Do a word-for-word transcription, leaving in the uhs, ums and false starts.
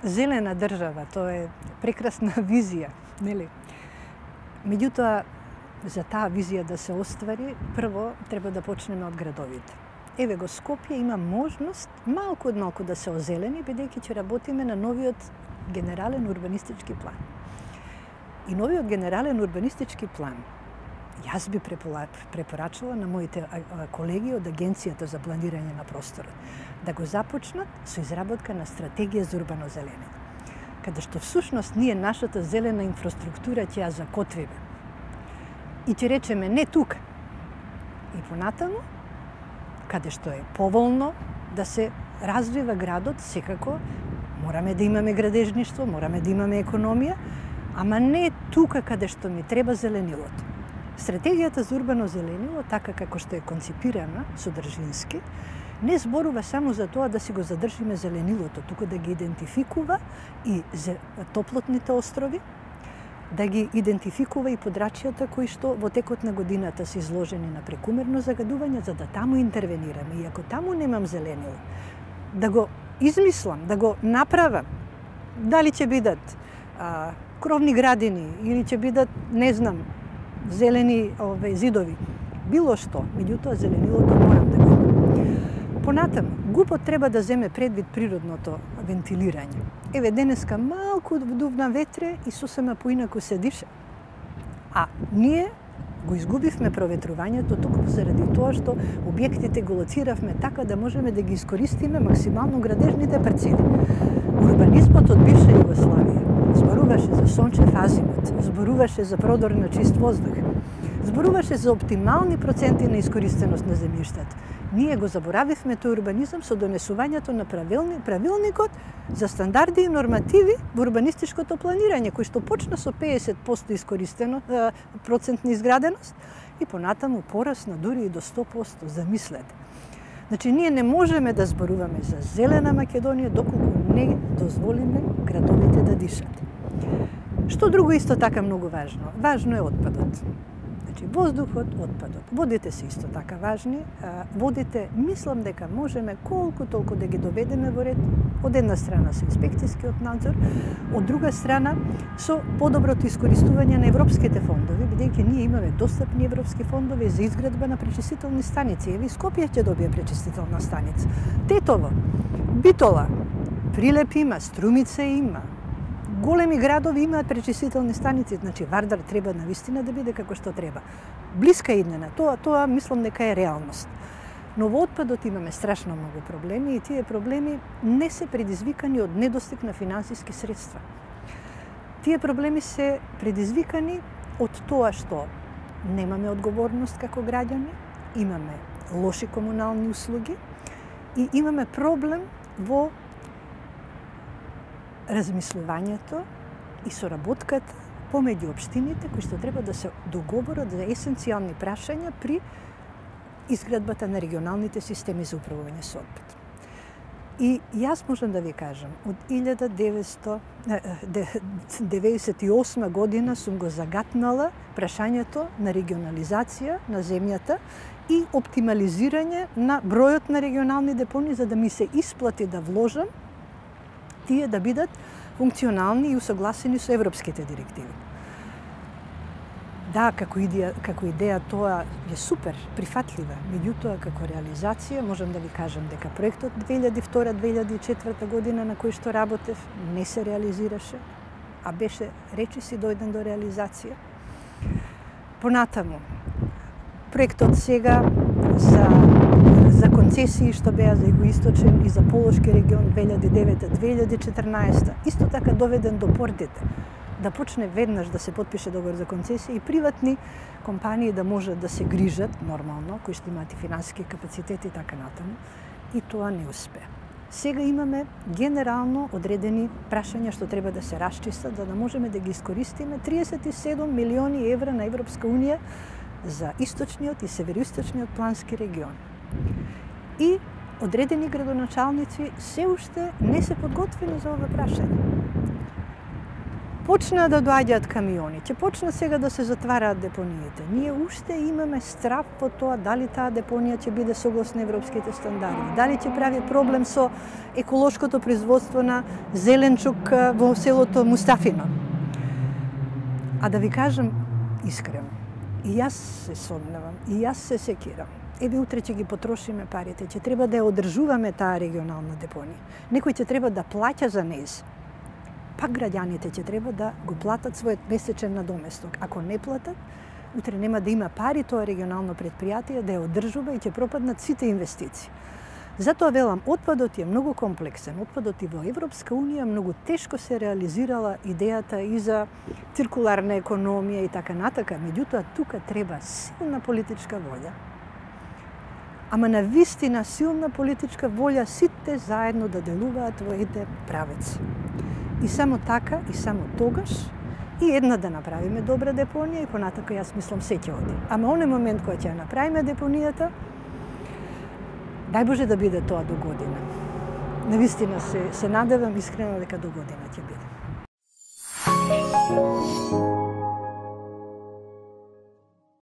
зелена држава, тоа е прекрасна визија, нели? Меѓутоа, за таа визија да се оствари, прво треба да почнеме од градовите. Еве го Скопје има можност малку од малку да се озелени, бидејќи ќе работиме на новиот генерален урбанистички план. И новиот генерален урбанистички план, јас би препорачала на моите колеги од Агенцијата за планирање на просторот да го започнат со изработка на стратегија за урбано зеленење, каде што всушност ние нашата зелена инфраструктура ќе ја закотвиме. И ќе речеме не тука. И понатаму, каде што е поволно да се развива градот, секако мораме да имаме градежништво, мораме да имаме економија, ама не тука каде што ми треба зеленилото. Стратегијата за урбано зеленило, така како што е конципирана содржински, не зборува само за тоа да си го задржиме зеленилото, туку да ги идентификува и топлотните острови, да ги идентификува и подрачјата кои што во текот на годината се изложени на прекумерно загадување, за да таму интервенираме. И ако таму немам зеленило, да го измислам, да го направам, дали ќе бидат а, кровни градини или ќе бидат, не знам, зелени ове, зидови, било што, меѓутоа зеленилото морам да го имам. Понатаму, ГУП-от треба да земе предвид природното вентилирање. Еве, денеска малку дувна ветре и сосема поинаку се диша. А ние го изгубивме проветрувањето токму заради тоа што објектите го лоциравме така да можеме да ги искористиме максимално градежните парцели. Урбанизмот од бивша Југославија зборуваше за сончев азимут, зборуваше за продор на чист воздух, зборуваше за оптимални проценти на искористеност на земјиштата. Ние го заборавивме тој урбанизам со донесувањето на правилни, правилникот за стандарди и нормативи во урбанистичкото планирање, кој што почна со педесет проценти искористено процентна изграденост и понатаму порасна дури и до сто проценти, замислете. Значи, ние не можеме да зборуваме за зелена Македонија доколку не дозволиме градовите да дишат. Што друго исто така многу важно? Важно е отпадот. Значи, воздухот, отпадот. Водите се исто така важни. Водите, мислам дека можеме колку толку да ги доведеме во ред. Од една страна со инспекцијскиот надзор, од друга страна со подоброто искористување на европските фондови, бидејќи ние имаме достапни европски фондови за изградба на пречистителни станици. Еве, Скопје ќе добие пречистителна станица. Тетово, Битола, Прилеп има, Струмица има. Големи градови имаат пречистителни станици, значи Вардар треба навистина да биде како што треба. Блиска иднина, тоа, тоа мислам дека е реалност. Но во отпадот имаме страшно многу проблеми и тие проблеми не се предизвикани од недостиг на финансиски средства. Тие проблеми се предизвикани од тоа што немаме одговорност како граѓани, имаме лоши комунални услуги и имаме проблем во размислувањето и соработката помеѓу општините кои што треба да се договорат за есенцијални прашања при изградбата на регионалните системи за управување со отпад. И јас можам да ви кажам, од илјада деветстотини деветдесет и осма година сум го загатнала прашањето на регионализација на земјата и оптимализирање на бројот на регионални депони за да ми се исплати да вложам тие да бидат функционални и усогласени со европските директиви. Да, како идеја, како идеја тоа е супер, прифатлива, меѓутоа како реализација можам да ви кажам дека проектот две илјади и втора - две илјади и четврта година на кој што работев не се реализираше, а беше речиси дојден до реализација. Понатаму, проектот сега за за концесии што беа за Југоисточен и за Полошки регион две илјади и девета - две илјади и четрнаесета, исто така доведен до портите, да почне веднаш да се потпише договор за концесија и приватни компании да можат да се грижат нормално, кои што имаат и финансиски капацитети и така натаму, и тоа не успеа. Сега имаме генерално одредени прашања што треба да се расчистат за да можеме да ги искористиме триесет и седум милиони евра на Европска унија за источниот и североисточниот плански регион. И одредени градоначалници се уште не се подготвени за ова прашање. почна да доаѓаат камиони, ќе почна сега да се затвараат депониите. Ние уште имаме страв по тоа дали таа депонија ќе биде согласно европските стандарди, дали ќе прави проблем со еколошкото производство на зеленчук во селото Мустафино. А да ви кажам искрено, и јас се сомневам, и јас се секирам. Еве утре ќе ги потрошиме парите, ќе треба да ја одржуваме таа регионална депонија. Некој ќе треба да плаќа за нејз. Пак граѓаните ќе треба да го платат својот месечен надоместок. Ако не платат, утре нема да има пари тоа регионално предпријатие да ја одржува и ќе пропаднат сите инвестиции. Затоа велам, отпадот е многу комплексен. Отпадот и во Европска унија многу тешко се реализирала идејата и за циркуларна економија и така натака. Меѓутоа, тука треба силна политичка волја. Ама на вистина силна политичка волја сите заедно да делуваат во еден правец. И само така, и само тогаш, и една да направиме добра депонија и понатака јас мислам се ќе оди. Ама оне момент кој ќе ја направиме депонијата, дај Боже да биде тоа до година. Навистина се, се надевам искрено дека до година ќе биде.